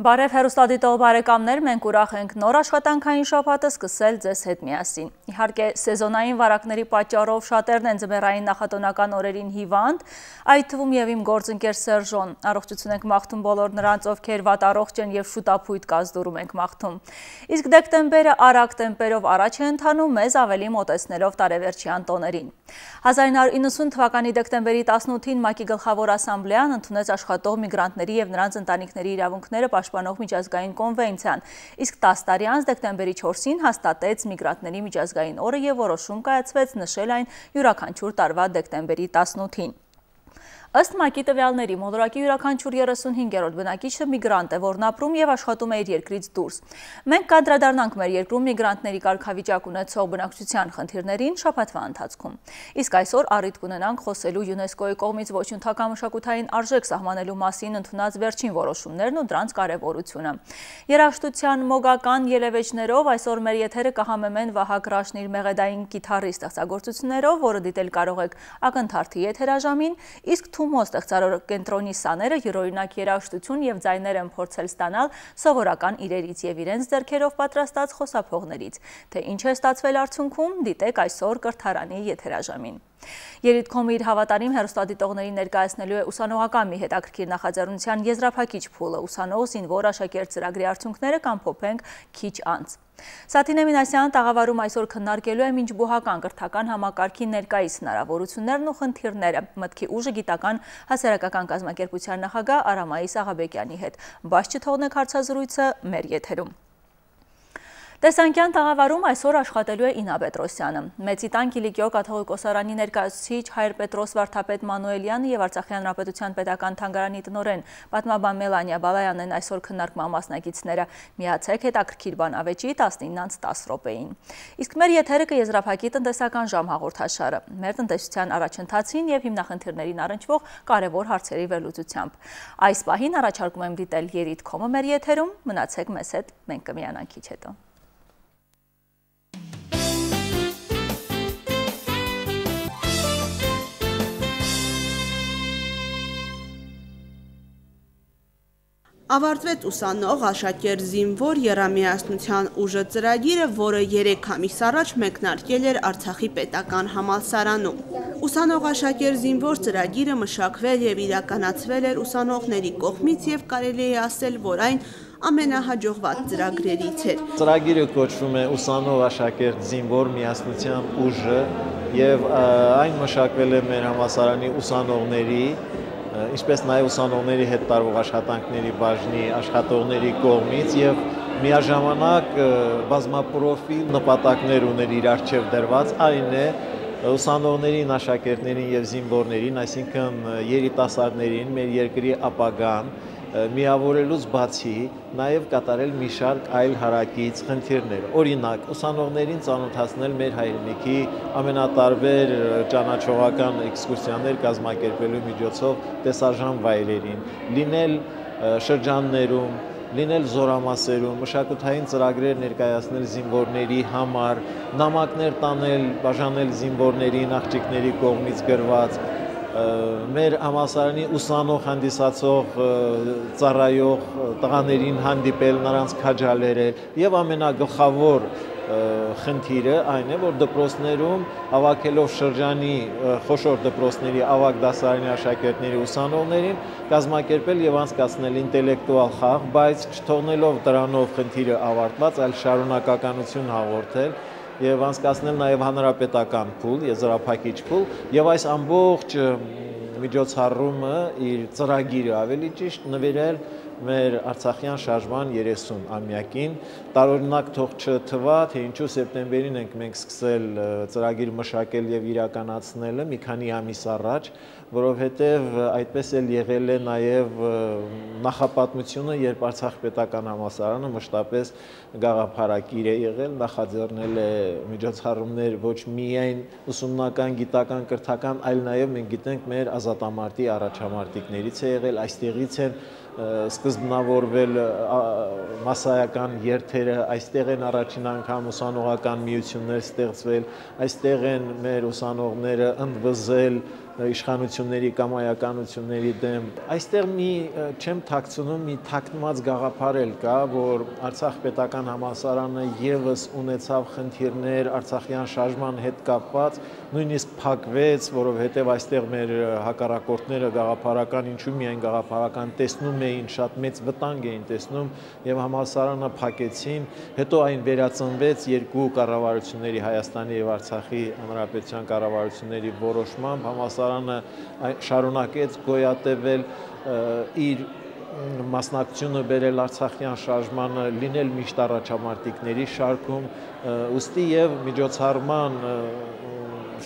Բարև հեռուստադիտող բարեկամներ, մենք ուրախ ենք նոր աշխատանքային շաբաթը սկսել ձեզ հետ միասին։ Իհարկե, սեզոնային վարակների պատճառով շատերն են ձմեռային նախատոնական օրերին հիվանդ, այդ թվում եւ իմ գործընկեր Սերժոն։ Առողջություն ենք մաղթում բոլոր նրանց, ովքեր վատառողջ են եւ շուտապույտ կազդուրում ենք մաղթում։ Իսկ դեկտեմբերը արագ տեմպերով առաջ է ընթանում, մեզ ավելի մոտեցնելով տարեվերջյան տոներին։ 1990 թվականի դեկտեմբերի 18-ին ՄԱԿ-ի գլխավոր ասամբլեան ընդունեց աշխատող միգրանտների եւ նրանց ընտանիքների իրավունքները պաշտպանող միջազգային կոնվենցիան, իսկ 10 տարի անց դեկտեմբերի 4-ին հաստատեց միգրանտների միջազգային օրը եւ որոշում կայացվեց նշել այն յուրաքանչյուր տարվա դեկտեմբերի 18-ին։ Ըստ ՄԱԿ-ի տվյալների մոլորակի յուրաքանչյուր 35-րդ բնակիչը միգրանտ է, որն ապրում եւ աշխատում է իր երկրից դուրս։ Մենք կանդրադառնանք մեր երկրում միգրանտների կարգավիճակ ունեցող բնակչության խնդիրներին շաբաթվա ընթացքում։ Իսկ այսօր առիթ կունենանք խոսելու ՅՈՒՆԵՍԿՕ-ի կողմից ոչնչական մշակութային արժեք սահմանելու մասին ընդունած վերջին որոշումներն ու դրանց կարևորությունը։ Երաժշտության մոգական ելևէջներով այսօր մեր եթերը կհամեմեն Վահագ Ռաշնիր մեղեդային կիթառի ստեղծագործություններով, որը դիտել կարող եք ակնթարթի եթերաժամին, իսկ Թումո ստեղծարարակենտրոնի սաները յուրօրինակ երաժշտություն եւ ձայներ են փորձել ստանալ սովորական իրերից եւ իրենց ձեռքերով պատրաստած խոսափողներից։ Թե ինչ է ստացվել արդյունքում, դիտեք այսօր կրթարանի եթերաժամին։ Երիտքոմը իր հավատարիմ հեռուստադիտողներին ներկայացնելու է ուսանողական մի հետաքրքիր նախաձեռնության եզրափակիչ փուլը, ուսանող զինվոր աշակերտ ծրագրի արդյունքները կամփոփենք քիչ անց։ Սաթինե Մինասյանը տաղավարում այսօր քննարկելու է մինչբուհական կրթական համակարգի ներկայիս հնարավորություններն ու խնդիրները, մտքի ուժը գիտական հասարակական կազմակերպության նախագահ Արամայիս Աղաբեկյանի հետ։ Բաց չթողնեք հարցազրույցը մեր եթերում։ Տեսանկյան տաղավարում այսօր աշխատելու է Ինա Պետրոսյանը։ Մեծիտան Կիլիկիո կաթողիկոսարանի ներկայացուցիչ Հայր Պետրոս վարդապետ Մանուելյանը եւ Արցախի հանրապետության պետական թանգարանի տնօրեն պատմաբան Մելանիա Բալայանն են այսօր քննարկման մասնակիցները։ Միացեք հետաքրքիր բան ավեճի 19:10 րոպեին։ Իսկ մեր եթերը կեզրափակի տնտեսական ժամ հաղորդաշարը։ Մեր տնտեսության առաջընթացին եւ հիմնախնդիրներին առնչվող կարևոր հարցերի վերլուծությամբ։ Այս պահին առաջարկում եմ դիտել Երիտքոմը մեր եթերում, մնացեք մեզ հետ, մենք կմիանանք քիչ հետո։ Ավարտվեց ուսանող աշակերտ զինվոր եռամիասնության ուժը ծրագիրը, որը 3 ամիս առաջ մեկնարկել էր Արցախի պետական համալսարանում։ Ուսանող աշակերտ զինվոր ծրագիրը մշակվել եւ իրականացվել էր ուսանողների կողմից եւ կարելի է ասել, որ այն ամենահաջողված ծրագրերից էր։ Ծրագիրը կոչվում է ուսանող աշակերտ զինվոր միասնության ուժը եւ այն մշակվել է մեր համալսարանի ուսանողների ինչպես նաև ուսանողների հետ տարվող աշխատանքների բաժնի աշխատողների կողմից եւ միաժամանակ բազմապրոֆիլ նպատակներ ուներ իր առջև դրված, այն է ուսանողներին, աշակերտներին եւ զինվորներին, այսինքն երիտասարդներին, մեր երկրի ապագան միավորելուց բացի նաև կատարել մի շարք այլ հարակից խնդիրներ։ Օրինակ, ուսանողներին ծանոթացնել մեր հայրենիքի ամենատարբեր ճանաչողական էքսկուրսիաներ կազմակերպելու միջոցով տեսարժան վայրերին, լինել շրջաններում, լինել զորամասերում, մշակութային ծրագրեր ներկայացնել զինվորների համար, նամակներ տանել, բաժանել զինվորներին, աղջիկների կողմից գրված, մեր համալսարանի ուսանող հանդիսացող ծառայող տղաներին հանդիպել, նրանց քաջալերել եւ ամենագլխավոր խնդիրը այն է, որ դպրոցներում հավաքելով շրջանի խոշոր դպրոցների ավագ դասարանի աշակերտների ուսանողներին կազմակերպել եւ անցկացնել ինտելեկտուալ խաղ, բայց չթողնելով դրանով խնդիրը ավարտված, այլ շարունակականություն հաղորդել եւ անցկացնել նաեւ հանրապետական փուլ, եզրափակիչ փուլ, եւ այս ամբողջ միջոցառումը իր ծրագիրը ավելի ճիշտ նվիրել մեր Արցախյան շարժման 30-ամյակին, տարօրինակ թող չթվա, թե ինչու սեպտեմբերին ենք մենք սկսել ծրագիր մշակել եւ իրականացնելը մի քանի ամիս առաջ, որովհետեւ այդպես էլ եղել է նաեւ նախապատմությունը, երբ Արցախ պետական համալսարանը մշտապես գաղափարակիր է եղել, նախաձեռնել է միջոցառումներ ոչ միայն ուսումնական, գիտական, կրթական, այլ նաեւ մենք գիտենք մեր ազատամարտի առաջամարտիկներից է եղել, այստեղից են սկզբնավորվել մասսայական երթերը, այստեղ են առաջին անգամ ուսանողական միություններ ստեղծվել, այստեղ են մեր ուսանողները ընդվզել իշխանությունների կամայականությունների դեմ։ Այստեղ մի չեմ թաքցնում, մի թաքնված գաղափար էլ կա, որ Արցախ պետական համալսարանը եւս ունեցավ խնդիրներ Արցախյան շարժման հետ կապված, նույնիսկ փակվեց, որովհետև այստեղ մեր հակառակորդները գաղափարական, ինչու միայն գաղափարական տեսնում էին, շատ մեծ վտանգ էին տեսնում եւ համալսարանը փակեցին, հետո այն վերածնվեց երկու կառավարությունների Հայաստանի եւ Արցախի հանրապետության կառավարությունների որոշմամբ, համալսարանը շարունակեց գոյատևել իր մասնակցությունը բերել Արցախյան շարժմանը, լինել միշտ առաջամարտիկների շարքում, ուստի եւ միջոցառման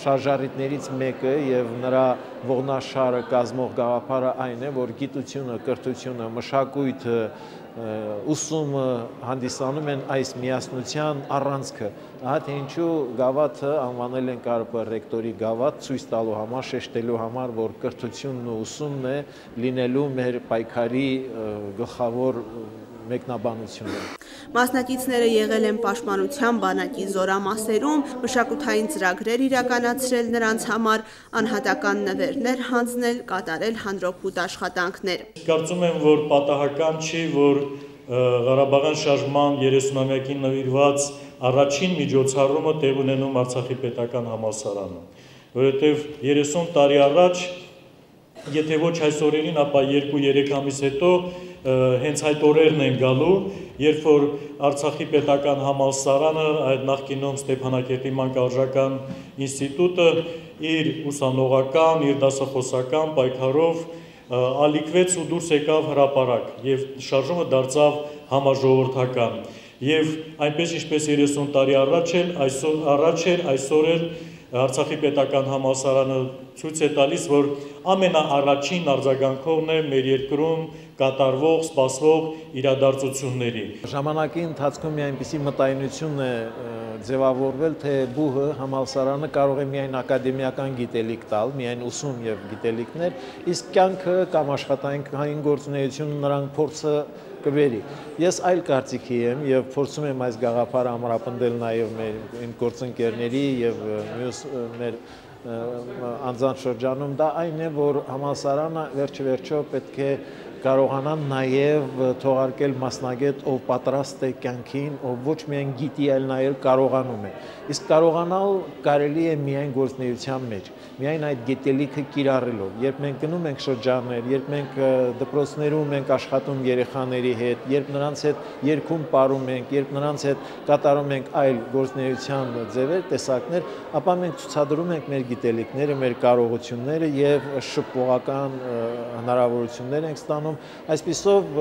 շարժառիթներից մեկը եւ նրա ողնաշարը կազմող գաղափարը այն է, որ գիտությունը, կրթությունը, մշակույթը, ուսումը հանդիսանում են այս միասնության առանցքը։ Ահա թե ինչու գավաթը անվանել են ԿԱՐՊ ռեկտորի գավաթ, ցույց տալու համար, շեշտելու համար, որ կրթությունն ու ուսումն է լինելու մեր պայքարի գլխավոր մեկնաբանությունը։ Մասնակիցները եղել են պաշտպանության բանակի զորամասերում, մշակութային ծրագրեր իրականացրել նրանց համար, անհատական նվերներ հանձնել, կատարել հանրօգուտ աշխատանքներ։ Կարծում եմ, որ պատահական չի, որ Ղարաբաղյան շարժման 30-ամյակին նվիրված առաջին միջոցառումը տեղ ունենում Արցախի պետական համալսարանում, որովհետև 30 տարի առաջ, եթե ոչ այս օրերին, ապա 2-3 ամիս հետո հենց այդ օրերն են գալու, երբ որ Արցախի պետական համալսարանը, այդ նախկինում Ստեփանակերտի մանկավարժական ինստիտուտը իր ուսանողական, իր դասախոսական պայքարով ալիքվեց ու դուրս եկավ հրապարակ եւ շարժումը դարձավ համաժողովրդական եւ այնպես ինչպես 30 տարի առաջ էր այսօր էլ Արցախի պետական համալսարանը ցույց է տալիս, որ ամենաառաջին արձագանքողն է մեր երկրում կատարվող, սպասվող իրադարձությունների։ Ժամանակի ընթացքում մի այնպիսի մտայնություն է ձևավորվել, թե բուհը համալսարանը կարող է միայն ակադեմիական գիտելիք տալ, միայն ուսում եւ գիտելիքներ, իսկ կյանքը կամ աշխատանքային գործունեությունը նրան փորձը կբերի։ Ես այլ կարծիքի եմ եւ փորձում եմ այս գաղափարը ամրապնդել նաեւ մեր գործընկերների եւ մյուս մեր անձանց շրջանում, դա այն է, որ համալսարանը վերջիվերջո պետք է կարողանան նաև թողարկել մասնագետ, ով պատրաստ է կյանքին, ով ոչ միայն գիտի, այլ նաև կարողանում է։ Իսկ կարողանալ կարելի է միայն գործունեության մեջ, միայն այդ գիտելիքը կիրառելով։ Երբ մենք գնում ենք շրջաններ, երբ մենք դպրոցներում ենք աշխատում երեխաների հետ, երբ նրանց հետ երգում պարում ենք, երբ նրանց հետ կատարում ենք այլ գործունեության ձևեր, տեսակներ, ապա մենք ցուցադրում ենք մեր գիտելիքները, մեր կարողությունները եւ շփողական հնարավորություններ ենք ստանում։ Այսպիսով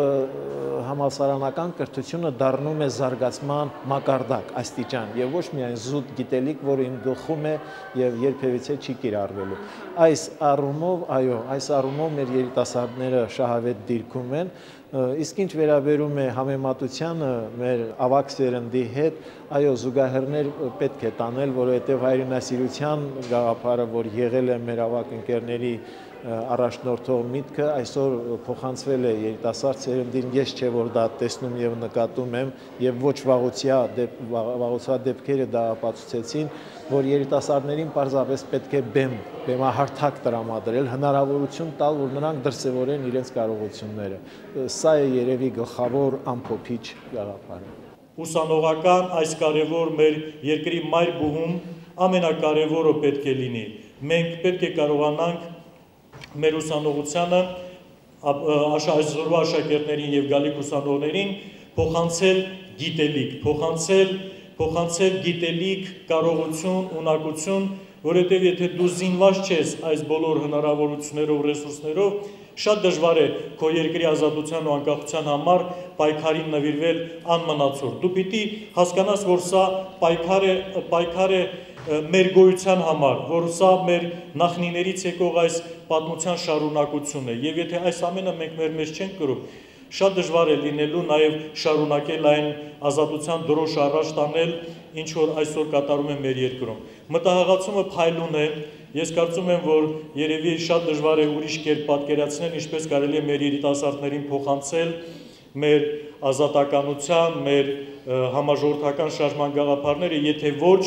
համալսարանական կրթությունը դառնում է զարգացման մակարդակ, աստիճան եւ ոչ միայն զուտ գիտելիք, որը իմ գլխում է եւ երբևիցե չի կիրառվելու։ Այս առումով, այո, այս առումով մեր երիտասարդները շահավետ դիրքում են, իսկ ինչ վերաբերում է համեմատությանը մեր ավակ սերնդի հետ, այո, զուգահեռներ պետք է տանել, որովհետեւ հայրենասիրության գաղափարը, որ եղել է մեր ավակ ընկերների առաջնորդող միտքը, այսօր փոխանցվել է երիտասարդ սերնդին, ես չէ որ դա տեսնում եւ նկատում եմ եւ ոչ վաղուցյալ դեպքերը դա ապացուցեցին, որ երիտասարդներին պարզապես պետք է բեմահարթակ տրամադրել, հնարավորություն տալ, որ նրանք դրսևորեն իրենց կարողությունները։ Սա է երևի գլխավոր ամփոփիչ գաղափարը։ Ուսանողական այս կարևոր մեր երկրի մայր բուհում ամենակարևորը պետք է լինի։ Մենք պետք է կարողանանք մեր ուսանողությանը այսօրվա աշակերտներին եւ գալիք ուսանողներին փոխանցել գիտելիք, փոխանցել գիտելիք, կարողություն, ունակություն, որովհետեւ եթե դու զինված չես այս բոլոր հնարավորություններով, ռեսուրսներով, շատ դժվար է քո երկրի ազատության ու անկախության համար պայքարին նվիրվել անմնացորդ։ Դու պիտի հասկանաս, որ սա պայքար է մեր գոյության համար, որ սա մեր նախնիներից եկող այս պատմության շարունակությունն է, եւ եթե այս ամենը մենք մեր մեջ չենք կրում, շատ դժվար է լինելու նաեւ շարունակել այն ազատության դրոշ առաջ տանել, ինչ որ այսօր կատարում է մեր երկրում։ Մտահղացումը փայլուն է, ես կարծում եմ, որ երևի շատ դժվար է ուրիշ կերպ պատկերացնել, ինչպես կարելի է մեր երիտասարդներին փոխանցել մեր ազատականության, մեր համաժողովրդական շարժման գաղափարները, եթե ոչ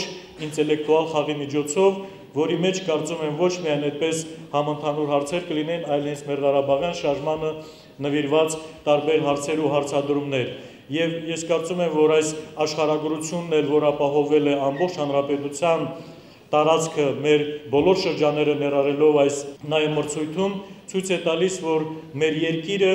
ինտելեկտուալ խաղի միջոցով որի մեջ կարծում եմ ոչ միայն այդպես համընդհանուր հարցեր կլինեն, այլ հենց մեր Ղարաբաղյան շարժմանը նվիրված տարբեր հարցեր ու հարցադրումներ։ Եվ ես կարծում եմ, որ այս աշխարհագրությունն էլ, որ ապահովել է ամբողջ հանրապետության տարածքը մեր բոլոր շրջանները ներառելով այս նաև մրցույթում, ցույց է տալիս, որ մեր երկիրը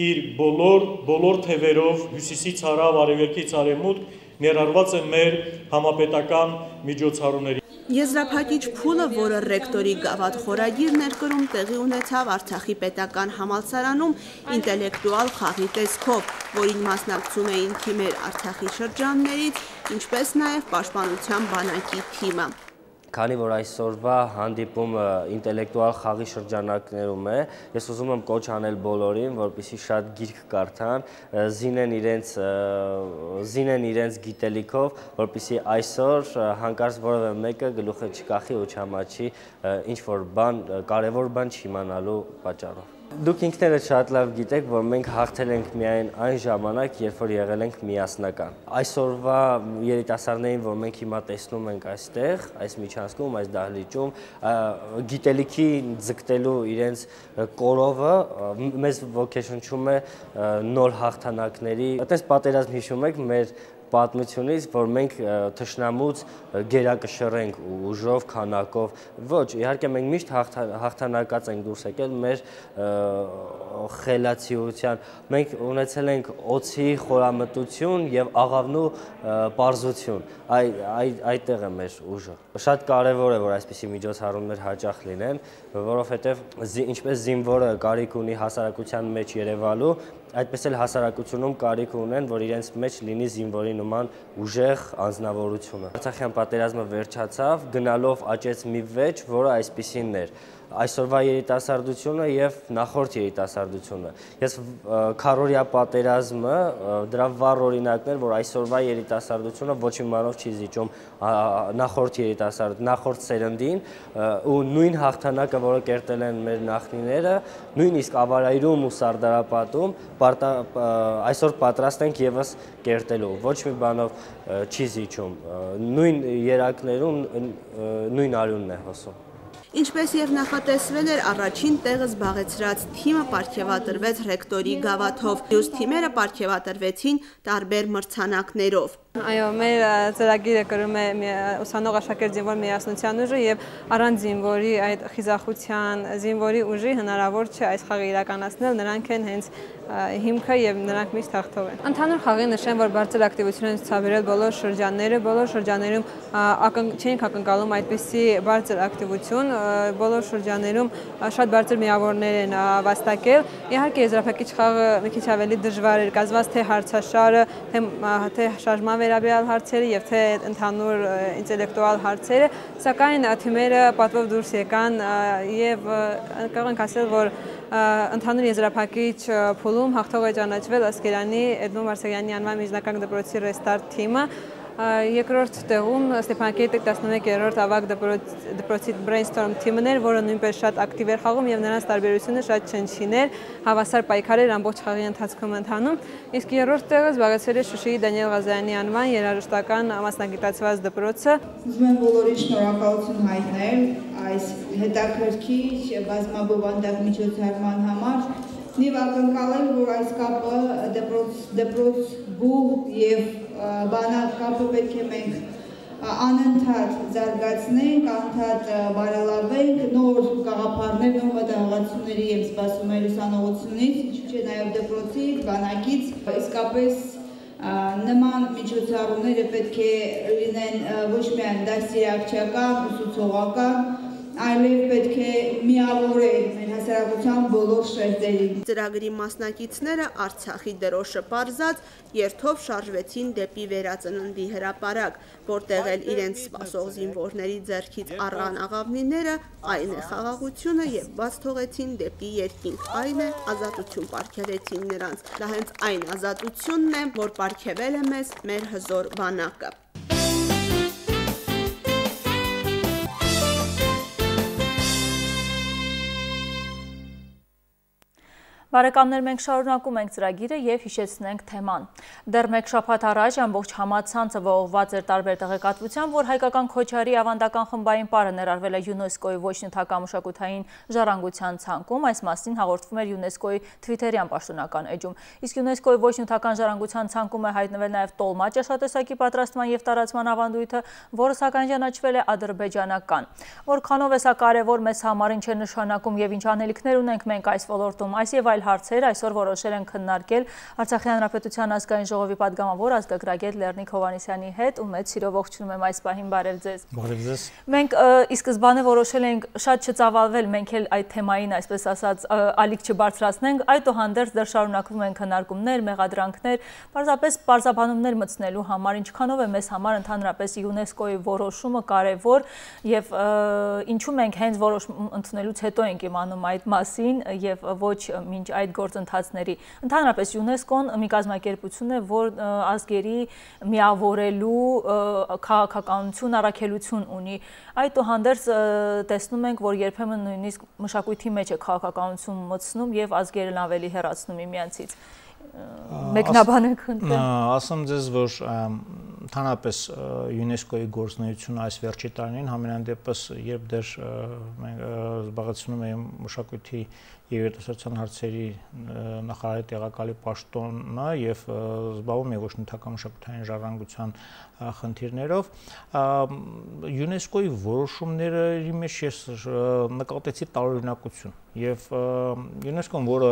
իր բոլոր թևերով հյուսիսից հարավ, արևելքից արևմուտք ներառված է մեր համապետական միջոցառումների։ Եզրափակիչ փուլը, որը ռեկտորի գավաթ խորագիրն էր կրում, տեղի ունեցավ Արցախի պետական համալսարանում ինտելեկտուալ խաղի տեսքով, որին մասնակցում էին թիմեր Արցախի շրջաններից, ինչպես նաև Պաշտպանության բանակի թիմը։ Քանի որ այսօրվա հանդիպումը ինտելեկտուալ խաղի շրջանակներում է, ես ուզում եմ կոչ անել բոլորին, որպեսզի շատ գիրք կարդան, զինեն իրենց գիտելիքով, որպեսզի այսօր հանկարծ որևէ մեկը գլուխը չկախի ու չհամաչի ինչ-որ բան, կարևոր բան չիմանալու պատճառով։ Դուք ինքներդ շատ լավ գիտեք, որ մենք հաղթել ենք միայն այն ժամանակ, երբ որ եղել ենք միասնական։ Այսօրվա երիտասարդներին, որ մենք հիմա տեսնում ենք այստեղ, այս միջանցքում, այս դահլիճում, գիտելիքի ձգտելու իրենց կորովը մեզ ոգեշնչում է նոր հաղթանակների։ Այդպես պատերազմ հիշում եք մեր պատմությունից, որ մենք թշնամուց գերակշռենք ուժով, քանակով, ոչ, իհարկե մենք միշտ հաղթանակած ենք դուրս եկել մեր խելացիության, մենք ունեցել ենք օձի խորամտություն եւ աղավնու պարզություն, այդտեղ է մեր ուժը։ Շատ կարևոր է, որ այսպիսի միջոցառումներ հաճախ լինեն, որովհետեւ ինչպես զինվորը կարիք ունի հասարակության մեջ երևալու, այդպես էլ հասարակությունում կարիք ունեն, որ իրենց մեջ լինի զինվորի նման ուժեղ անձնավորությունը։ Արցախյան պատերազմը վերջացավ, գնալով աճեց մի վեճ, որը այսպիսինն էր։ Այսօրվա երիտասարդությունը եւ նախորդ երիտասարդությունը։ Ես քառօրյա պատերազմը դրա վառ օրինակն էր, որ այսօրվա երիտասարդությունը ոչ մի բանով չի զիջում նախորդ սերնդին ու նույն հաղթանակը, որը կերտել են մեր նախնիները, նույնիսկ Ավարայրում ու Սարդարապատում այսօր պատրաստ ենք եւս կերտելու, ոչ մի բանով չի զիջում, նույն երակներում նույն արյունն է հոսում։ Ինչպես եւ նախատեսվել էր, առաջին տեղը զբաղեցրած թիմը պարգևատրվեց ռեկտորի գավաթով, մյուս թիմերը պարգևատրվեցին տարբեր մրցանակներով։ Այո, մեր ծրագիրը կրում է ուսանող աշակերտ զինվոր միասնության ուժը եւ առանց զինվորի այդ խիզախության, զինվորի ուժի հնարավոր չէ այս խաղը իրականացնել, նրանք են հենց հիմքը եւ նրանք միշտ հաղթող են։ Ընդհանուր խաղի նշեմ, որ բարձր ակտիվություն են ցուցաբերել բոլոր շրջաններում չենք ակնկալում այդպիսի բարձր ակտիվություն, բոլոր շրջաններում շատ բարձր միավորներ են վաստակել։ Իհարկե եզրափակիչ խաղը մի քիչ ավելի դժվար էր, կազմված թե հարցաշարը, թե շարժման վերաբերյալ հարցերը եւ թե ընդհանուր ինտելեկտուալ հարցերը, սակայն թիմերը պատվով դուրս եկան եւ կարող ենք ասել, որ ընդհանուր եզրափակիչ փուլում հաղթող է ճանաչվել Ասկերանի Էդմոն Մարսեղյանի անվան միջնակարգ դպրոցի Restart թիմը, երկրորդ տեղում Ստեփանակերտի 11-րդ ավագ դպրոցի Brainstorm թիմն էր, որը նույնպես շատ ակտիվ էր խաղում եւ նրանց տարբերությունը շատ չնչին էր, հավասար պայքար էր ամբողջ խաղի ընթացքում ընթանում, իսկ երրորդ տեղը զբաղեցրել է Շուշիի Դանիել Ղազարյանի անվան երաժշտական մասնագիտացված դպրոցը։ Ուզում եմ բոլորին շնորհակալություն հայտնել այս հետաքրքիր բազմաբովանդակ միջոցառման համար։ Եվ ակնկալել, որ այս կապը դպրոց գուղ եւ բանակ կապը պետք է մենք անընդհատ զարգացնենք, անընդհատ բարելավենք, նոր գաղափարներ, նոր մտահղացումների եմ սպասում այլ ուսանողությունից, ինչու՞ չէ նաև դպրոցից, բանակից, իսկապես նման միջոցառումները պետք է լինեն ոչ միայն դաստիարակչական, ուսուցողական, այլև պետք է միավորել մեր հասարակության բոլոր շերտերին։ Ծրագրի մասնակիցները Արցախի դրոշը պարզած երթով շարժվեցին դեպի Վերածննդի հրապարակ, որտեղ էլ իրենց սպասող զինվորների ձեռքից առան աղավնիները, այն է խաղաղությունը եւ բաց թողեցին դեպի երկինք, այն է ազատություն պարգևեցին նրանց։ Դա հենց այն ազատությունն է, որ պարգևել է մեզ մեր հզոր բանակը։ Բարեկամներ, մենք շարունակում ենք ծրագիրը եւ հիշեցնենք թեման։ Դեռ մեկ շաբաթ առաջ ամբողջ համացանցը ողողված էր տարբեր տեղեկատվությամբ, որ հայկական Քոչարի ավանդական խմբային պարը ներառվել է ՅՈՒՆԵՍԿՕ-ի ոչ նյութական մշակութային ժառանգության ցանկում, այս մասին հաղորդվում էր ՅՈՒՆԵՍԿՕ-ի Twitter-յան պաշտոնական էջում։ Իսկ ՅՈՒՆԵՍԿՕ-ի ոչ նյութական ժառանգության ցանկում է հայտնվել նաեւ տոլմա ճաշատեսակի պատրաստման եւ տարածման ավանդույթը, որը սակայն ճանաչվել է ադրբեջանական։ Որքանով է սա կարևոր մեզ համար, ինչ է նշանակում եւ ինչ անելիքներ ունենք մենք այս ոլորտում, այս եւ այլ հարցեր այսօր որոշել են քննարկել Արցախի Հանրապետության ազգային ժողովի պատգամավոր ազգագրագետ Լեռնիկ Հովհաննիսյանի հետ ու մեծ սիրով ողջունում եմ այս պահին, բարև ձեզ։ Բարև ձեզ։ Մենք ի սկզբանե որոշել ենք շատ չծավալվել, մենք էլ այդ թեմային, այսպես ասած, ալիք չբարձրացնենք, այդուհանդերձ դեռ շարունակվում են քննարկումներ, մեղադրանքներ, պարզապես պարզաբանումներ մտցնելու համար, ինչքանով է մեզ համար ընդհանրապես ՅՈՒՆԵՍԿՕ-ի որոշումը կարևոր եւ ինչու մենք հենց որոշում ընդունելուց հետո ենք իմանում այդ մասին եւ ոչ մինչ այդ գործընթացների։ Ընդհանրապես ՅՈՒՆԵՍԿՕ-ն մի կազմակերպություն է, որ ազգերի միավորելու քաղաքականություն, առաքելություն ունի։ Այդուհանդերձ տեսնում ենք, որ երբեմն նույնիսկ մշակույթի մեջ է քաղաքականություն մտցնում եւ ազգերն ավելի հեռացնում միմյանցից։ Մեկնաբանեք ընդ։ Ասեմ ձեզ, որ ընդհանրապես ՅՈՒՆԵՍԿՕ-ի գործունեությունը այս վերջի տարիներին համենայն դեպս, երբ դեռ մենք զբաղեցնում ենք մշակույթի եւ երիտասարդության հարցերի նախարարի տեղակալի պաշտոնը եւ զբաղվում է ոչ նյութական մշակութային ժառանգության խնդիրներով, ՅՈՒՆԵՍԿՕ-ի որոշումների մեջ ես նկատեցի տարօրինակություն եւ ՅՈՒՆԵՍԿՕ-ն, որը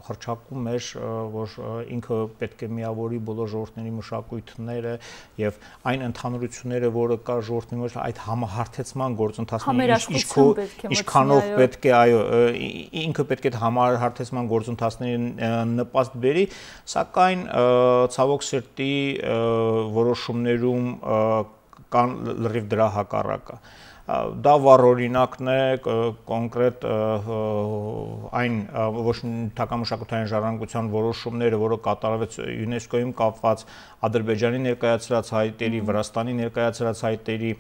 հռչակում էր, որ ինքը պետք է միավորի բոլոր ժողովուրդների մշակույթները եւ այն ընդհանրությունները, որը կա ժողովրդի մեջ, այդ համահարթեցման գործընթացների ինչքանով պետք է, այո, ինքը պետք է համահարթեցման գործընթացներին նպաստ բերի, սակայն ցավոք սրտի որոշումներում կան լրիվ դրա հակառակը։ Դա վառ օրինակն է կոնկրետ այն ոչ նյութական մշակութային ժառանգության որոշումները, որը կատարվեց ՅՈՒՆԵՍԿՕ-ում կապված Ադրբեջանի ներկայացրած հայտերի, Վրաստանի ներկայացրած հայտերի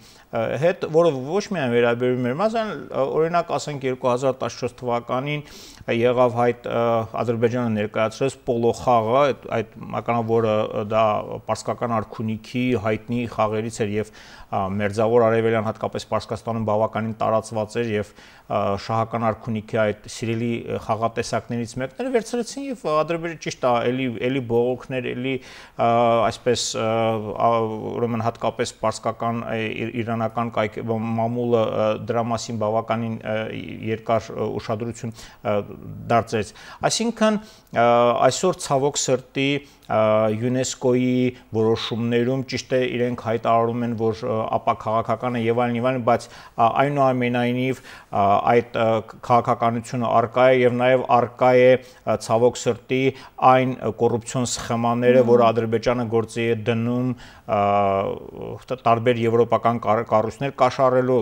հետ, որը ոչ միայն վերաբերում էր մեզ, այլ օրինակ ասենք 2014 թվականին եղավ հայտ Ադրբեջանը ներկայացրեց պոլո խաղը, այդ մականավորը դա պարսկական արքունիքի հայտնի խաղերից էր եւ մերձավոր արևելյան հատկապես Պարսկաստանում բավականին տարածված էր եւ շահական արքունիքի այդ սիրելի խաղատեսակներից մեկն էր, վերցրեցին եւ Ադրբեջանը ճիշտ է, էլի բողոքներ, էլի այսպես ուրեմն հատկապես պարսկական իրանական մամուլը դրա մասին բավականին երկար ուշադրություն դարձրեց։ Այսինքն այսօր ցավոք սրտի ՅՈՒՆԵՍԿՕ-ի որոշումներում ճիշտ է իրենք հայտարարում են, որ ապաքաղաքական է եւ այլն, բայց այնուամենայնիվ այդ քաղաքականությունը արկա է եւ նաեւ արկա է ցավոք սրտի այն կոռուպցիոն սխեմաները, որ Ադրբեջանը գործի է դնում տարբեր եվրոպական կառույցներ կաշառելու,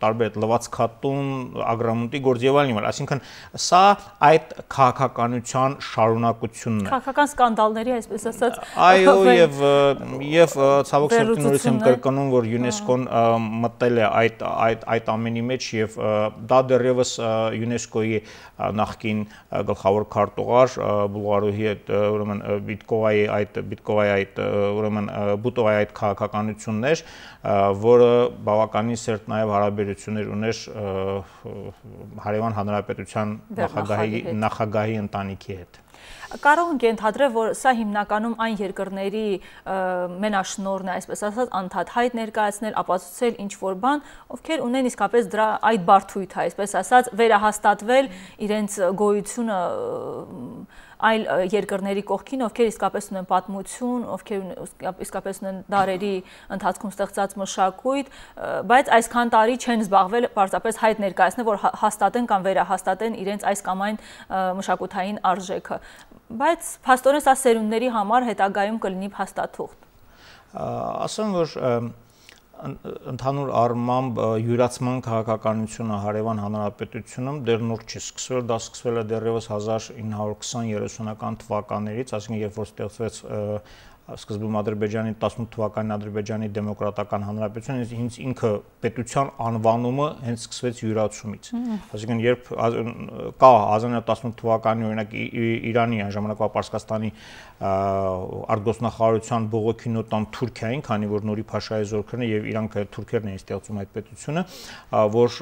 տարբեր լվացքատուն, ագրամունտի գործ եւ այլն, այսինքն սա այդ քաղաքականության շարունակությունն է։ Քաղաքական սկանդալների, այսպես ասած։ Այո, եւ ցավոք սրտի նորից եմ կրկնում, որ ՅՈՒՆԵՍԿՕ-ն մտել է այդ ամենի մեջ եւ դա դեռևս ՅՈՒՆԵՍԿՕ-ի նախկին գլխավոր քարտուղար Բուլղարուհի այդ ուրեմն Բիտկովայի այդ ուրեմն Բուտովայի այդ քաղաքականությունն էր, որը բավականին սերտ նաեւ հարաբերություններ ուներ Հարևան Հանրապետության նախագահի ընտանիքի հետ։ Կարող ենք ենթադրել, որ սա հիմնականում այն երկրների մենաշնորհն է, այսպես ասած, անդադար ներկայացնել, ապացուցել ինչ-որ բան, ովքեր ունեն իսկապես դրա այդ բարդույթը, այսպես ասած, վերահաստատվել իրենց գոյությունը այլ երկրների կողքին, ովքեր իսկապես ունեն պատմություն, ովքեր իսկապես ունեն դարերի ընթացքում ստեղծած մշակույթ, բայց այսքան տարի չեն զբաղվել պարզապես հայտ ներկայացնել, որ հաստատեն կամ վերահաստատեն իրենց այս կամ այն մշակութային արժեքը։ Բայց փաստորեն սա սերունդների համար հետագայում կլինի փաստաթուղթ։ Ասեմ, որ ընդհանուր առմամբ յուրացման քաղաքականությունը Հարևան Հանրապետությունում դեռ նոր չի սկսվել, դա սկսվել է դեռևս 1920-30-ական թվականներից, այսինքն երբ որ ստեղծվեց սկզբում Ադրբեջանի 18 թվականին Ադրբեջանի դեմոկրատական հանրապետությունը հենց ինքը պետության անվանումը հենց սկսվեց յուրացումից։ Այսինքն երբ կա 1918 թվականի օրինակ Իրանի այն ժամանակվա Պարսկաստանի արտգործնախարարության բողոքի նոտան Թուրքիային, քանի որ Նուրի Փաշայի զորքերն եւ իրանք թուրքերն էին ստեղծում այդ պետությունը, որ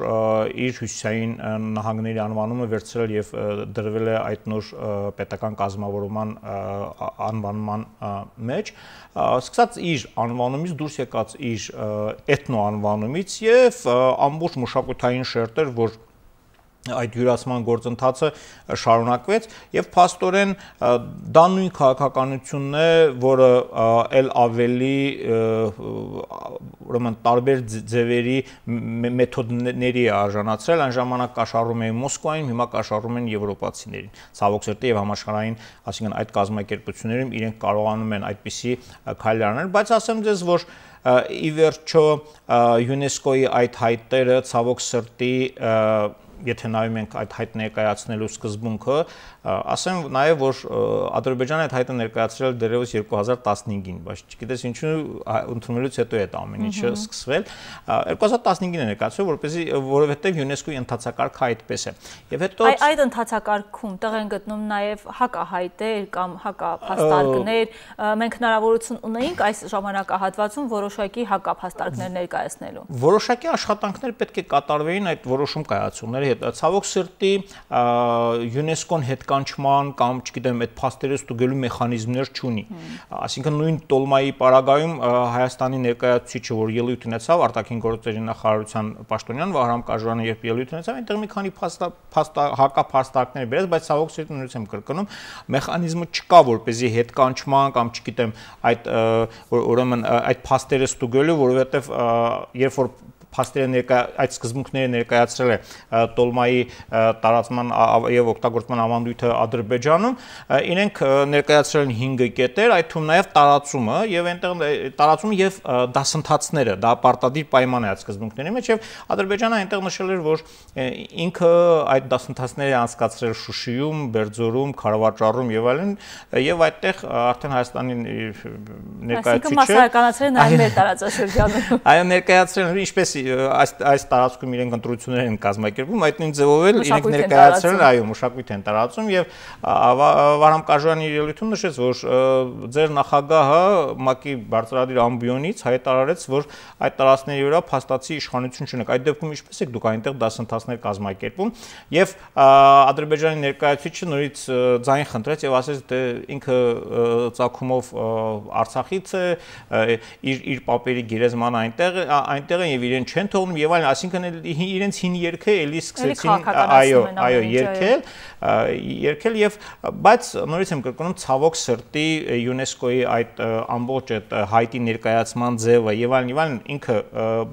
իր հյուսիսային նահանգների անվանումը վերցրել եւ դրվել է այդ նոր պետական կազմավորման անվանման մեջ, սկսած իր անվանումից դուրս եկած իր էթնո անվանումից եւ ամբողջ մշակութային շերտեր, որ այդ յուրացման գործընթացը շարունակվեց եւ փաստորեն դա նույն քաղաքականությունն է, որը ել ավելի ուրեմն տարբեր ձևերի մեթոդների է արժանացրել, այն ժամանակ կաշառում էին Մոսկվային, հիմա կաշառում են եվրոպացիներին։ Ցավոք սրտի եւ համաշխարհային, այսինքն այդ կազմակերպություններում իրենք կարողանում են այդպիսի քայլեր անել, բայց ասեմ ձեզ, որ ի վերջո ՅՈՒՆԵՍԿՕ-ի այդ հայտերը ցավոք սրտի եթե նայում ենք այդ հայտ ներկայացնելու սկզբունքը, ասեմ նաև, որ Ադրբեջանը այդ հայտը ներկայացրել դեռևս 2015-ին, բայց չգիտես ինչու ընդունելուց հետո է այդ ամեն ինչը սկսվել։ 2015-ին է ներկայացրել, որովհետև ՅՈՒՆԵՍԿՕ-ի ընթացակարգը այդպես է։ Եվ հետո այդ ընթացակարգում տեղ են գտնում նաև հակահայտեր կամ հակափաստարկներ, մենք հնարավորություն ունեինք այս ժամանակահատվածում որոշակի հակափաստարկներ ներկայացնելու։ Որոշակի աշխատանքներ պետք է կատարվեին այդ որոշում կայացումների հետ։ Ցավոք սրտի ՅՈՒՆԵՍԿՕ-ն հետկանչման կամ, չգիտեմ, այդ փաստերը ստուգելու մեխանիզմներ չունի։ Այսինքն նույն Տոլմայի պարագայում Հայաստանի ներկայացուցիչը, որ ելույթ ունեցավ արտաքին գործերի նախարարության պաշտոնյան Վահրամ Կաժյանը, երբ ելույթ ունեցավ, այնտեղ մի քանի հակափաստարկներ բերեց, բայց ցավոք սրտի նույնպես եմ կրկնում, մեխանիզմը չկա, որպեսզի հետկանչման կամ, չգիտեմ, այդ ուրեմն այդ փաստերը ստուգելու, որովհետև երբ որ փաստերը այդ սկզբունքները ներկայացրել է Տոլմայի տարածման եւ օգտագործման ավանդույթը Ադրբեջանում, իրենք ներկայացրել են 5 կետեր, այդ թվում նաեւ տարածումը եւ այնտեղ տարածումը եւ դասընթացները, դա պարտադիր պայման է այդ սկզբունքների մեջ եւ Ադրբեջանը այնտեղ նշել էր, որ ինքը այդ դասընթացները անցկացրել Շուշիում, Բերձորում, Քարավաճառում եւ այլն, եւ այդտեղ արդեն Հայաստանի ներկայացուցիչը մասսայականացրել նաեւ մեր տարածաշրջանում։ Այո, ներկայացրել ինչպես այս տարածքում իրենք ընտրություններ են կազմակերպում, այդ նույն ձևով էլ իրենք ներկայացրել, այո, մշակույթ են տարածում եւ Վահրամ Կաժյանի ելույթում նշեց, որ ձեր նախագահը ՄԱԿ-ի բարձրադիր ամբիոնից հայտարարեց, որ այդ տարածքների վրա փաստացի իշխանություն չունեք։ Այդ դեպքում ինչպես եք դուք այնտեղ դասընթացներ կազմակերպում եւ Ադրբեջանի ներկայացուցիչը նորից ձայն խնդրեց եւ ասեց, թե ինքը ծագումով Արցախից է, իր պապերի գերեզմանը այնտեղ են եւ իրեն չեն թողնում եւ այլն, այսինքն իրենց հին երգը էլի սկսեցին, այո, երգել եւ բայց նորից եմ կրկնում, ցավոք սրտի ՅՈՒՆԵՍԿՕ-ի այդ ամբողջ այդ հայտի ներկայացման ձևը եւ այլն ինքը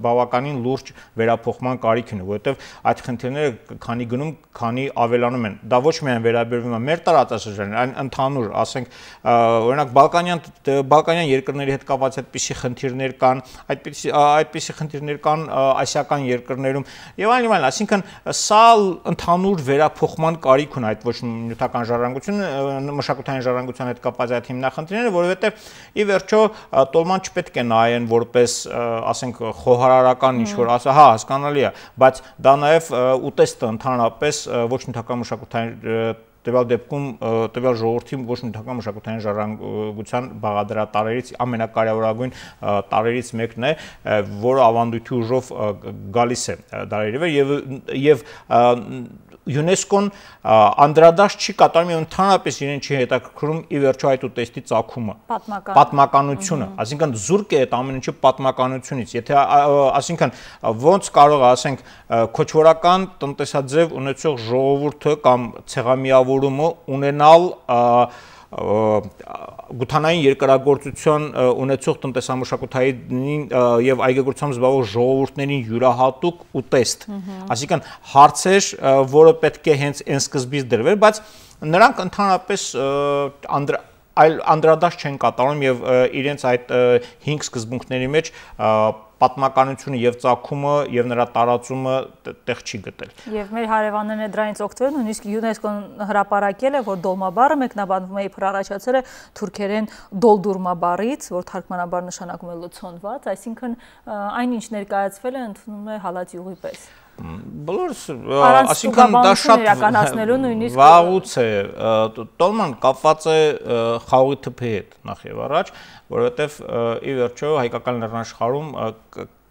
բավականին լուրջ վերափոխման կարիք ունի, որովհետեւ այդ խնդիրները քանի գնում, քանի ավելանում են։ Դա ոչ միայն վերաբերվում է մեր տարածաշրջանին, այլ ընդհանուր, ասենք, օրինակ Բալկանյան երկրների հետ կապված այդպիսի խնդիրներ կան, այդպիսի խնդիրներ կան ասիական երկրներում եւ այլն, այսինքն սա ընդհանուր վերափոխման կարիք ունի այդ ոչ նյութական ժառանգությունը, մշակութային ժառանգության հետ կապված այդ հիմնախնդիրները, որովհետեւ ի վերջո Տոլման չպետք է նայեն որպես, ասենք, խոհարարական ինչ-որ, հա, հասկանալի է, բայց դա նաեւ ուտեստը ընդհանրապես ոչ նյութական մշակութային տվյալ դեպքում տվյալ ժողովրդի ոչ նյութական մշակութային ժառանգության բաղադրատարերից ամենակարևորագույն տարերից մեկն է, որը ավանդույթի ուժով գալիս է դարերի վեր եւ ՅՈՒՆԵՍԿՕ-ն անդրադարձ չի կատարում եւ ընդհանրապես իրեն չի հետաքրքրում ի վերջո այդ ուտեստի ծագումը, պատմականությունը, այսինքն զուրկ է այդ ամեն ինչը պատմականությունից, եթե այսինքն ոնց կարող է, ասենք, քոչվորական տնտեսաձև ունեցող ժողովուրդը կամ ցեղամիավորումը ունենալ գութանային երկրագործություն ունեցող տնտեսամշակութային եւ այգեգործությամբ զբաղվող ժողովուրդներին յուրահատուկ ուտեստ, այսինքն հարցեր, որը պետք է հենց այն սկզբից դրվեր, բայց նրանք ընդհանրապես անդրադարձ չեն կատարում եւ իրենց այդ 5 սկզբունքների մեջ պատմականությունը եւ ծագումը եւ նրա տարածումը տեղ չի գտել։ Եվ մեր հարևաններն է դրանից օգտվել, նույնիսկ ՅՈՒՆԵՍԿՕ-ն հրապարակել է, որ դոլմա բառը մեկնաբանվում է իբր առաջացել է թուրքերեն դոլդուրմա բառից, որ թարգմանաբար նշանակում է լցոնված, այսինքն այն ինչ ներկայացվել է ընդունում է հալած յուղի պես։ Բոլորս, այսինքն դա շատ վաղուց է, տոլման կապված է խաղողի թփի հետ նախ եւ առաջ, որովհետեւ ի վերջո հայկական լեռնաշխարհում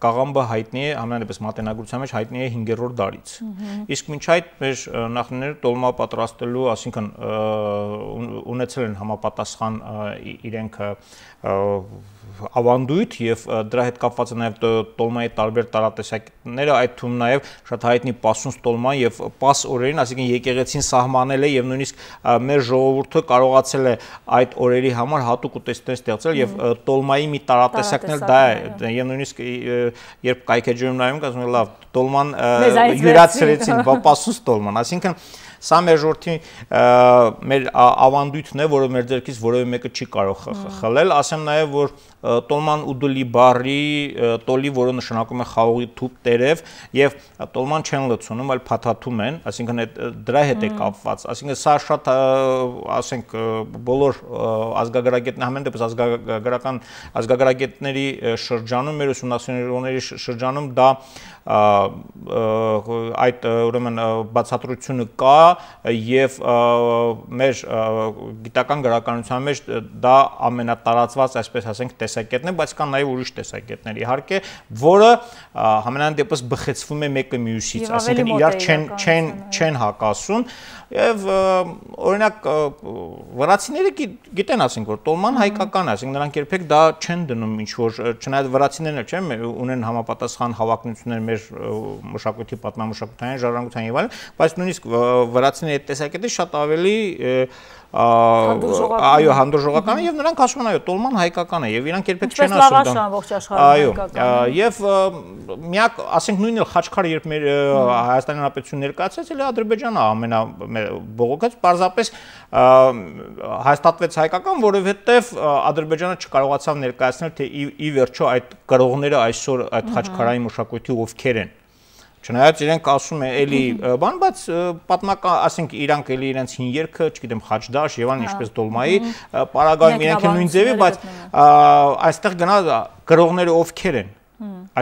կաղամբը հայտնի է, ամենայնպես մատենագրության մեջ հայտնի է 5-րդ դարից։ Իսկ մինչ այդ մեր նախնիները տոլմա պատրաստելու, այսինքն ունեցել են համապատասխան իրենք ավանդույթ եւ դրա հետ կապված է նաեւ տոլմայի տարբեր տարատեսակները, այդ թվում նաեւ շատ հայտնի պասունց տոլման եւ պաս օրերին, այսինքն եկեղեցին սահմանել է եւ նույնիսկ մեր ժողովուրդը կարողացել է այդ օրերի համար հատուկ ուտեստներ ստեղծել եւ տոլմայի մի տարատեսակն էլ դա է եւ նույնիսկ երբ կայքեջում նայում ասում են լավ տոլման յուրացրեցին պասունց տոլման, այսինքն սա մեր ժողովրդի մեր ավանդույթն է, որը մեր ձեռքից որևէ մեկը չի կարող խլել, ասեմ նաև որ տոլման ուդուլի բառի տոլի, որը նշանակում է խաղողի թուփ տերև եւ տոլման չեն լցոնում, այլ փաթաթում են, այսինքն դրա հետ է կապված, այսինքն սա շատ ասենք բոլոր ազգագրագետներ, համեն դեպս ազգագրագետների շրջանում, մեր ուսումնասիրողների շրջանում դա այդ ուրեմն բացատրությունը կա եւ մեր գիտական գրականության մեջ դա ամենատարածված, այսպես ասենք, տեսակետն է, բայց կան նաեւ ուրիշ տեսակետներ, իհարկե, որը համենայն դեպս բխեցվում է մեկը մյուսից, այսինքն իրար չեն հակասում եւ օրինակ վրացիները գիտեն, ասենք, որ տոլման հայկական է, ասենք նրանք երբեք դա չեն դնում ինչ որ, չնայած վրացիներն էլ չեն ունեն համապատասխան հավակնություններ մեր մշակույթի պատմամշակութային ժառանգության եւ այլն, բայց նույնիսկ վրացիների տեսակետը շատ ավելի այո, հանդուրժողական է եւ նրանք ասում են այո, տոլման հայկական է եւ իրանք երբեք չեն ասում դա։ Այո, եւ միակ, ասենք նույնն էլ Խաչքարը երբ մեր Հայաստանի Հանրապետություն ներկայացրեց, էլ Ադրբեջանը ամենաբողոքած, պարզապես հաստատվեց հայկական, որովհետեւ Ադրբեջանը չկարողացավ ներկայացնել, թե ի վերջո այդ կրողները այսօր այդ Խաչքարային մշակույթի ովքեր են։ Չնայած իրենք ասում են էլի բան, բայց պատմական, ասենք իրանք էլի իրենց հին երգը, չգիտեմ, խաչդաշ եւ այլն, ինչպես դոլմայի, պարագայում իրենք են նույն ձևի, բայց այստեղ գնա կրողները ովքեր են։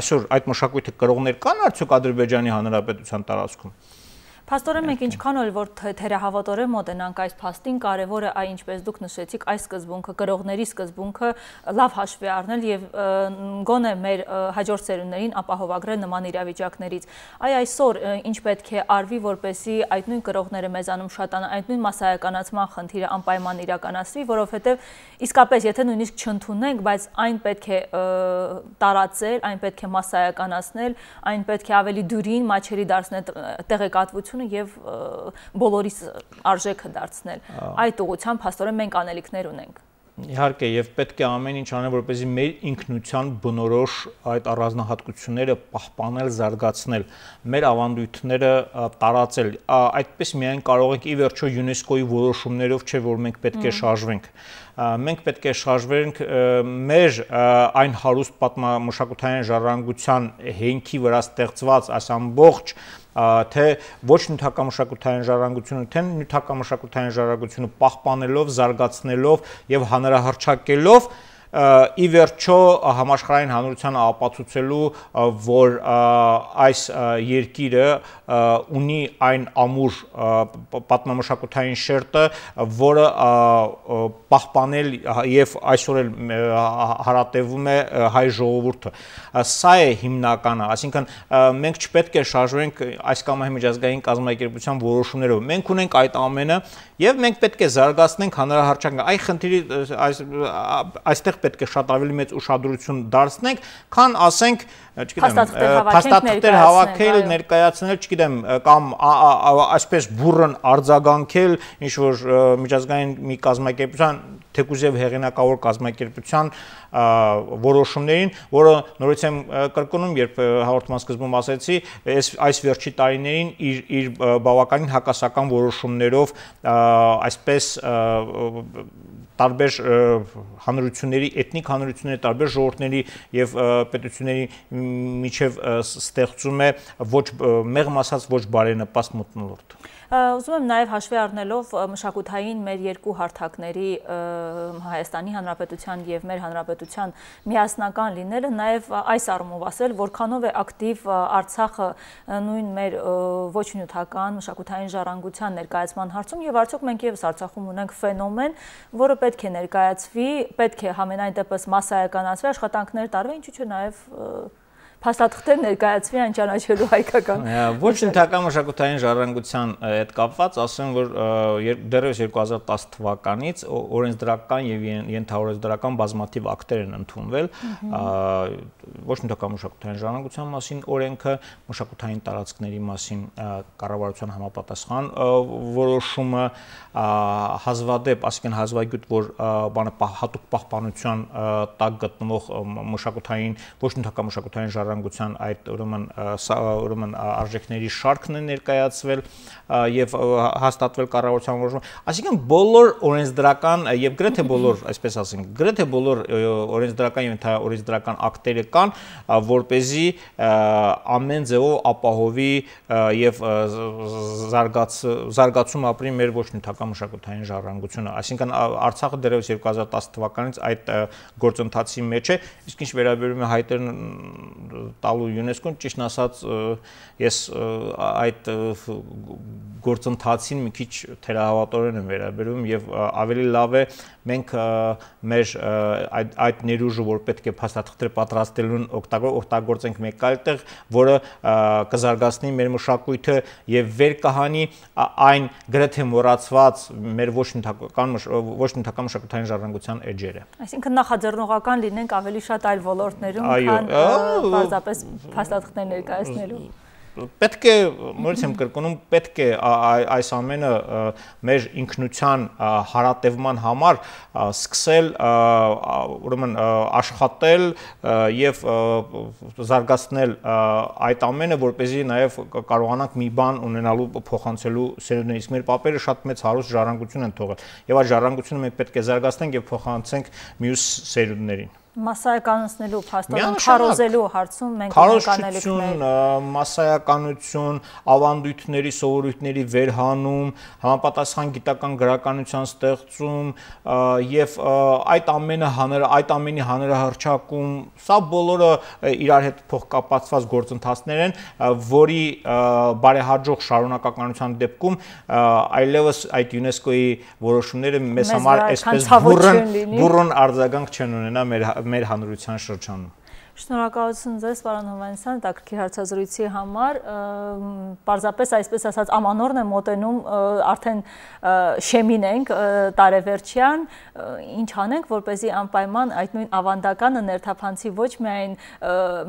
Այսօր այդ մշակույթը կրողներ կան արդյոք Ադրբեջանի Հանրապետության տարածքում։ Փաստորեն մենք ինչքան էլ որ թերահավատորեն մոտենանք այս փաստին, կարևոր է այ ինչպես դուք նշեցիք, այս սկզբունքը, կրողների սկզբունքը լավ հաշվի առնել եւ գոնե մեր հաջորդ սերունդներին ապահովագրել նման իրավիճակներից։ Այ այսօր ինչ պետք է արվի, որպեսզի այդ նույն կրողները մեզանում շատանան, այդ նույն մասսայականացման խնդիրը անպայման իրականացվի, որովհետեւ իսկապես եթե նույնիսկ չընդունենք, բայց այն պետք է տարածել, այն պետք է մասսայականացնել, այն պետք է ավելի դյուրին մաչելի դարձնել տեղեկատվություն եւ բոլորիս արժեքը դարձնել։ Այդ ուղղությամբ փաստորեն մենք անելիքներ ունենք։ Իհարկե, եւ պետք է ամեն ինչ անել, որպեսզի մեր ինքնության բնորոշ այդ առանձնահատկությունները պահպանել, զարգացնել, մեր ավանդույթները տարածել։ Այդպես միայն կարող ենք ի վերջո ՅՈՒՆԵՍԿՕ-ի որոշումներով չէ, որ մենք պետք է շարժվենք։ Մենք պետք է շարժվենք մեր այն հարուստ պատմամշակութային ժառանգության հենքի վրա ստեղծված այս ամբողջ թե ոչ նյութակամշակութային ժառանգությունը, թե նյութակամշակութային ժառանգությունը պահպանելով, զարգացնելով եւ հանրահռչակելով ի վերջո համաշխարհային հանրությանը ապացուցելու, որ այս երկիրը ունի այն ամուր պատմամշակութային շերտը, որը պահպանել եւ այսօր էլ հարատևում է հայ ժողովուրդը։ Սա է հիմնականը, այսինքն մենք չպետք է շարժվենք այս կամ այն միջազգային կազմակերպության որոշումներով։ Մենք ունենք այդ ամենը եւ մենք պետք է զարգացնենք հանրահռչակը։ Այ խնդիրի այստեղ պետք է շատ ավելի մեծ ուշադրություն դարձնենք, քան ասենք, չգիտեմ, փաստաթղթեր հավաքել, ներկայացնել, չգիտեմ, կամ այսպես բուրըն արձագանքել ինչ որ միջազգային մի կազմակերպության, թեկուզ եւ հեղինակավոր կազմակերպության որոշումներին, որը նորից եմ կրկնում, երբ հաղորդման սկզբում ասեցի, այս վերջի տարիներին իր բավականին հակասական որոշումներով այսպես տարբեր հանրությունների, էթնիկ հանրությունների, տարբեր ժողովուրդների եւ պետությունների միջև ստեղծում է ոչ մեղմ ասած ոչ բարենպաստ մթնոլորտ։ Ուզում եմ նաև հաշվի առնելով մշակութային մեր երկու հարթակների Հայաստանի Հանրապետության եւ մեր հանրապետության միասնական լինելը, նաև այս առումով ասել, որքանով է ակտիվ Արցախը նույն մեր ոչ նյութական մշակութային ժառանգության ներկայացման հարցում եւ արդյոք մենք եւս Արցախում ունենք ֆենոմեն, որը պետք է ներկայացվի, պետք է համենայն դեպս մասսայականացվի, աշխատանքներ տարվի, ինչու՞ չէ նաև փաստաթղթեր ներկայացվի այն ճանաչելու հայկական։ Ոչ նյութական մշակութային ժառանգության հետ կապված ասեմ, որ դեռևս 2010 թվականից օրենսդրական եւ ենթաօրենսդրական բազմաթիվ ակտեր են ընդունվել ոչ նյութական մշակութային ժառանգության մասին օրենքը, մշակութային տարածքների մասին կառավարության համապատասխան որոշումը, հազվադեպ, ասիկան հազվագյուտ, որ հատուկ պահպանության տակ գտնվող մշակութային ոչ նյութական մշակութային ժառանգության այդ ուրեմն արժեքների շարքն է ներկայացվել եւ հաստատվել կառավարության որոշումը, այսինքն բոլոր օրենսդրական եւ գրեթե բոլոր, այսպես ասենք, գրեթե բոլոր օրենսդրական եւ ենթաօրենսդրական ակտերը կան, որպեսզի ամեն ձևով ապահովի եւ զարգացում ապրի մեր ոչ նյութական մշակութային ժառանգությունը, այսինքն Արցախը դեռևս 2010 թվականից այդ գործընթացի մեջ է, իսկ ինչ վերաբերում է հայտեր տալու ՅՈՒՆԵՍԿՕ-ն, ճիշտն ասած ես այդ գործընթացին մի քիչ թերահավատորեն եմ վերաբերում եւ ավելի լավ է մենք մեր այդ ներուժը, որ պետք է փաստաթղթեր պատրաստելուն օգտագործենք մեկ այլ տեղ, որը կզարգացնի մեր մշակույթը եւ վեր կհանի այն գրեթե մոռացված մեր ոչ նյութական մշակութային ժառանգության էջերը։ Այսինքն նախաձեռնողական լինենք ավելի շատ այլ ոլորտներում, քան պարզապես փաստաթղթեր ներկայացնելու։ Պետք է, նորից եմ կրկնում, պետք է այս ամենը մեր ինքնության հարատևման համար սկսել ուրեմն աշխատել եւ զարգացնել այդ ամենը, որպեսզի նաեւ կարողանանք մի բան ունենալու փոխանցելու սերունդներին, իսկ մեր պապերը շատ մեծ հարուստ ժառանգություն են թողել եւ այդ ժառանգությունը մենք պետք է զարգացնենք եւ փոխանցենք մյուս սերունդներին։ Մասսայականացնելու փաստորեն քարոզելու հարցում մենք ունենք անելիքներ, մասսայականություն, ավանդույթների, սովորույթների վերհանում, համապատասխան գիտական գրականության ստեղծում եւ այդ ամենի հանրահռչակում, սա բոլորը իրար հետ փոխկապակցված գործընթացներ են, որի բարեհաջող շարունակականության դեպքում այլևս այդ ՅՈՒՆԵՍԿՕ-ի որոշումները մեզ համար այսպես բուրըն արձագանք չեն ունենա մեր հանրության շրջանում։ Շնորհակալություն ձեզ, պարոն Հովհաննիսյան, հետաքրքիր հարցազրույցի համար, պարզապես այսպես ասած ամանորն է մոտենում, արդեն շեմին ենք տարեվերջյան, ինչ անենք, որպեսզի անպայման այդ նույն ավանդականը ներթափանցի ոչ միայն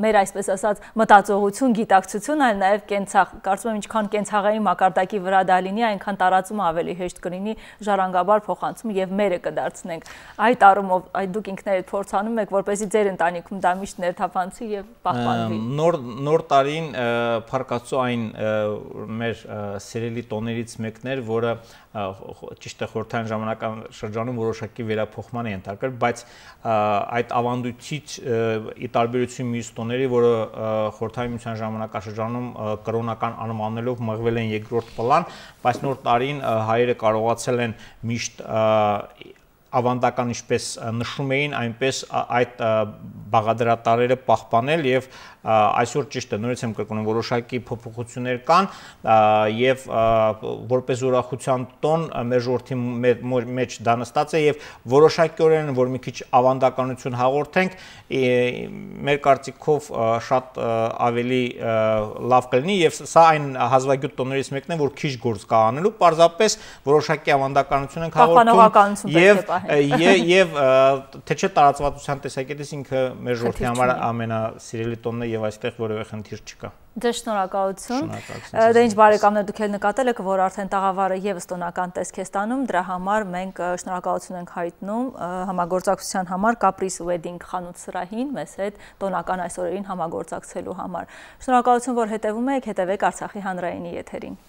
մեր այսպես ասած մտածողություն, գիտակցություն, այլ նաև կենցաղ, կարծում եմ ինչքան կենցաղային մակարդակի վրա դա լինի, այնքան տարածումը ավելի հեշտ կլինի, ժառանգաբար փոխանցում եւ մերը կդարձնենք։ Այդ առումով դուք ինքներդ փորձանում եք, որպեսզի ձեր ընտանիքում դա միշտ թափանցի եւ պահպանվի։ Նոր տարին փառկացու այն մեր սիրելի տոներից մեկն էր, որը ճիշտ է խորհրդային ժամանակական շրջանում որոշակի վերափոխման է ենթարկվել, բայց այդ ավանդույթից ի տարբերություն մյուս տոների, որը խորհրդային միության ժամանակաշրջանում կրոնական անվանելով մղվել են երկրորդ պլան, բայց նոր տարին հայերը կարողացել են միշտ ավանդական ինչպես նշում էին, այնպես այդ բաղադրատարերը պահպանել եւ այսօր ճիշտ է, նորից եմ կրկնում, որոշակի փոփոխություններ կան եւ որպես ուրախության տոն մեր ժողովրդի մեջ դա նստած է եւ որոշակիորեն որ մի քիչ ավանդականություն հաղորդենք, մեր կարծիքով շատ ավելի լավ կլինի եւ սա այն հազվագյուտ տոներից մեկն է, որ քիչ գործ կա անելու, պարզապես որոշակի ավանդականություն ենք հաղորդում եւ թե չէ տարածվածության տեսակետից ինքը մեր ժողովրդի համար ամենասիրելի տոնն է եւ այստեղ որևէ խնդիր չկա։ Ձեզ շնորհակալություն։ Դե ինչ բարեկամներ, դուք էլ նկատել եք, որ արդեն տաղավարը եւս տոնական տեսք է ստանում, դրա համար մենք շնորհակալություն ենք հայտնում համագործակցության համար Caprice Wedding խանութ սրահին մեզ հետ տոնական այս օրերին համագործակցելու համար։ Շնորհակալություն, որ հետևում եք, հետևեք Արցախի հանրայինի եթերին։